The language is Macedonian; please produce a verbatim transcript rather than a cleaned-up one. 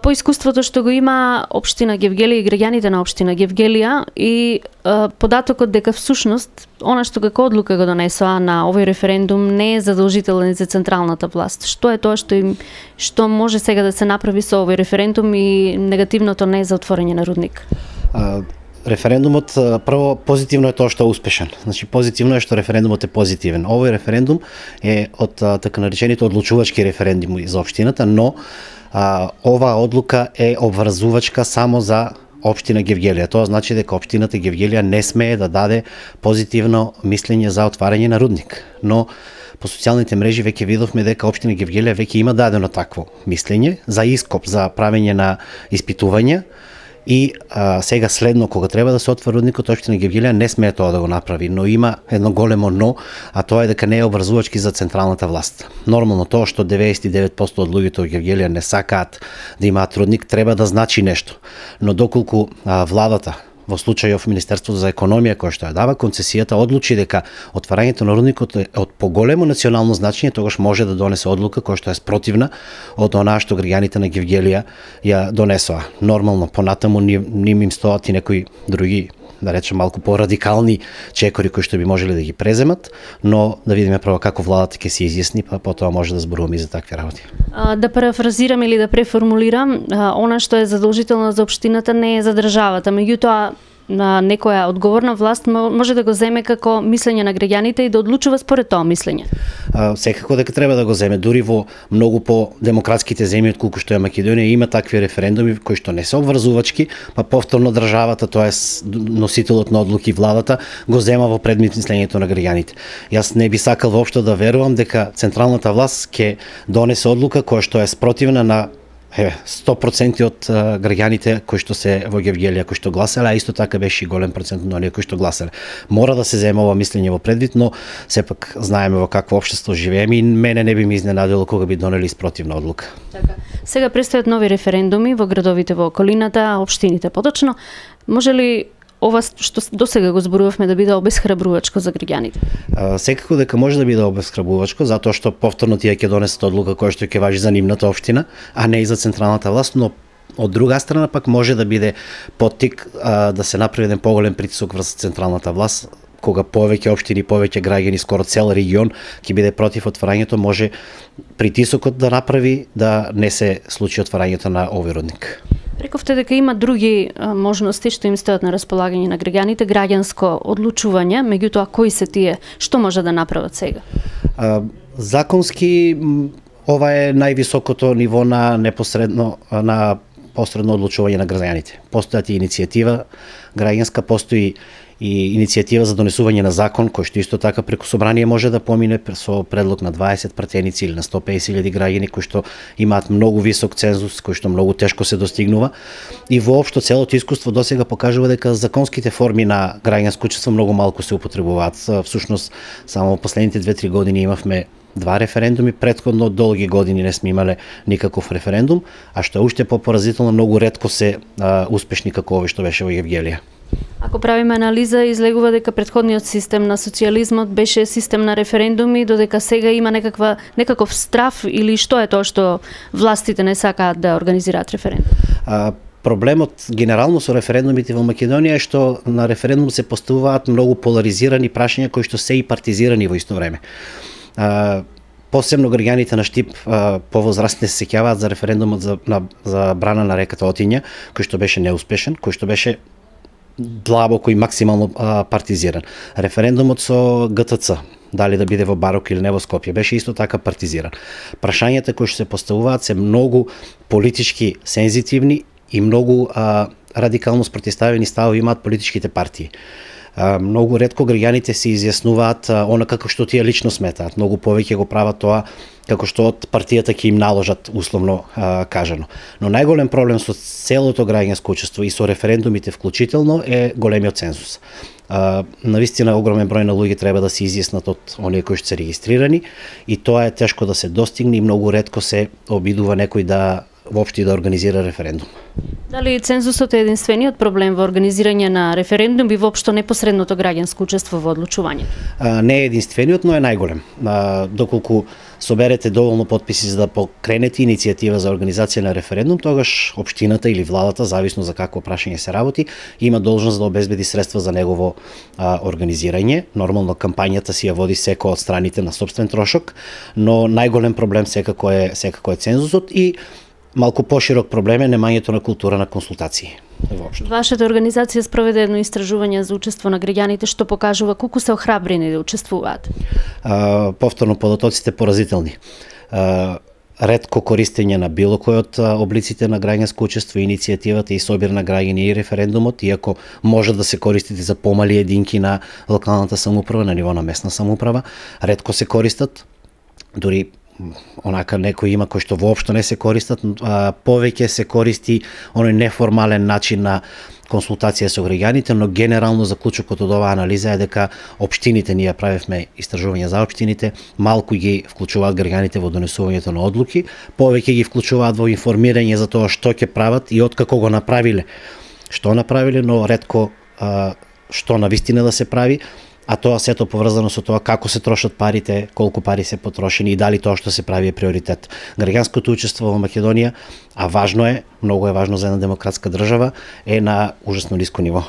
По искуството што го има општина Гевгелија и граѓаните на општина Гевгелија и е, податокот дека всушност она што како одлука го донесоа на овој референдум не е задолжителен за централната власт. Што е тоа што им што може сега да се направи со овој референдум и негативното не е за отворање на рудник? А, референдумот прво позитивно е тоа што е успешен. Значи позитивно е што референдумот е позитивен. Овој референдум е од така наречените одлучувачки референдуми за општината, но А, оваа одлука е обврзувачка само за општина Гевгелија. Тоа значи дека општината Гевгелија не смее да даде позитивно мислење за отварање на рудник. Но по социјалните мрежи веќе видовме дека општина Гевгелија веќе има дадено такво мислење за ископ за правење на испитувања. И а, сега следно, кога треба да се отвори рудникот, општина Гевгелија не смее тоа да го направи, но има едно големо но, а тоа е дека не е обврзувачки за централната власт. Нормално тоа што деветдесет и девет проценти од луѓето во Гевгелија не сакаат да имаат рудник, треба да значи нешто. Но доколку а, владата во случајов Министерството за економија кој што ја дава концесијата одлучи дека отварањето на рудникот е од поголемо национално значење, тогаш може да донесе одлука која што е спротивна од онаа што граѓаните на Гевгелија ја донесоа. Нормално понатаму ним им стоат и некои други, да речем малку порадикални чекори кои што би можеле да ги преземат, но да видиме прво како владата ќе се изјасни, па потоа може да зборуваме и за такви работи. А, да парафразирам или да преформулирам, а, она што е задолжително за општината не е за државата, меѓутоа на некоја одговорна власт може да го земе како мислење на граѓаните и да одлучува според тоа мислење. А, секако дека треба да го земе, дури во многу по демократските земји отколку што е Македонија има такви референдуми кои што не се обврзувачки, па повторно државата, тоа е носителот на одлуки владата, го зема во предмет мислењето на граѓаните. Јас не би сакал воопшто да верувам дека централната власт ќе донесе одлука која што е спротивна на Е, сто проценти од а, граѓаните кои што се во Гевгелија, кои што гласале, а исто така беше и голем процент на оние кои што гласале. Мора да се зема ова мислење во предвид, но сепак знаеме во какво општество живееме и мене не би ми изненадило кога би донели спротивна одлука. Така. Сега престојат нови референдуми во градовите во околината, општините поточно. Може ли ова што досега го зборувавме да биде обесхрабрувачко за граѓаните? Секако дека може да биде обесхрабрувачко, затоа што повторно тие ќе донесат одлука која што ќе важи за нивната општина, а не и за централната власт, но од друга страна пак може да биде поттик а, да се направи еден поголем притисок врз централната власт, кога повеќе општини, повеќе граѓани, скоро цел регион ќе биде против отварањето, може притисокот да направи да не се случи отварањето на овој рудник. Рековте дека има други а, можности што им стојат на располагање на граѓаните, граѓанско одлучување, меѓутоа кои се тие, што може да направат сега? А, законски ова е највисокото ниво на непосредно на посредно одлучување на граѓаните. Постојат и иницијатива граѓанска, постои и иницијатива за донесување на закон кој што исто така преку собрание може да помине со предлог на дваесет пратеници или на сто песет илјади граѓани кои што имаат многу висок цензус, кој што многу тешко се достигнува. И воопшто целото искуство досега покажува дека законските форми на граѓанско учество многу малку се употребуваат. Всушност само во последните две-три години имавме два референдуми, претходно долги години не сме имале никаков референдум, а што е уште попоразително, многу ретко се а, успешни како овој што беше во Гевгелија. Ако правиме анализа, излегува дека претходниот систем на социјализмот беше систем на референдуми, додека сега има некаква некаков страф или што е тоа што властите не сакаат да организираат референдум? А, Проблемот генерално со референдумите во Македонија е што на референдум се поставуваат многу поларизирани прашања кои што се и партизирани во исто време. А, посебно граѓаните на Штип повозрастни се сеќаваат за референдумот за, на, за брана на реката Отиња, кој што беше неуспешен, кој што беше длабоко и максимално а, партизиран. Референдумот со Г Т Ц, дали да биде во Барок или не во Скопје, беше исто така партизиран. Прашањата кои што се поставуваат се многу политички сензитивни и многу а, радикално спротивставени ставови имаат политичките партии. А, многу ретко граѓаните се изјаснуваат а, она како што тие лично сметаат. Многу повеќе го прават тоа како што од партијата ќе им наложат, условно а, кажано. Но најголем проблем со целото граѓанско учество и со референдумите вклучително е големиот цензус. А, навистина огромен број на луѓе треба да се изјаснат од оние кои што се регистрирани и тоа е тешко да се достигне и многу ретко се обидува некој да воопшто да организира референдум. Дали цензусот е единствениот проблем во организирање на референдум и воопшто непосредното граѓанско учество во одлучувањето? Не е единствениот, но е најголем. А, доколку соберете доволно потписи за да покренете иницијатива за организација на референдум, тогаш општината или владата, зависно за какво прашање се работи, има должност да обезбеди средства за негово а, организирање. Нормално кампањата си ја води секој од страните на сопствен трошок, но најголем проблем секако е секако е цензусот и малку поширок проблем е немањето на култура на консултации. Воопшто. Вашата организација спроведе едно истражување за учество на граѓаните што покажува колку се охрабрени да учествуваат. А, повторно податоците поразителни. А, ретко користење на било кој од облиците на граѓанско учество, иницијативата и собир на граѓани и референдумот, иако може да се користите за помали единки на локалната самоуправа, на ниво на местна самоуправа, ретко се користат, дури онака некои има кои што воопшто не се користат, а, повеќе се користи оној неформален начин на консултација со граѓаните, но генерално заклучокот од оваа анализа е дека општините, ние правевме истражување за општините, малку ги вклучуваат граѓаните во донесувањето на одлуки, повеќе ги вклучуваат во информирање за тоа што ќе прават и откако го направиле, што направиле, но ретко а, што навистина да се прави, а тоа сето поврзано со тоа како се трошат парите, колку пари се потрошени и дали тоа што се прави е приоритет. Граѓанското учество во Македонија, а важно е, многу е важно за една демократска држава, е на ужасно ниско ниво.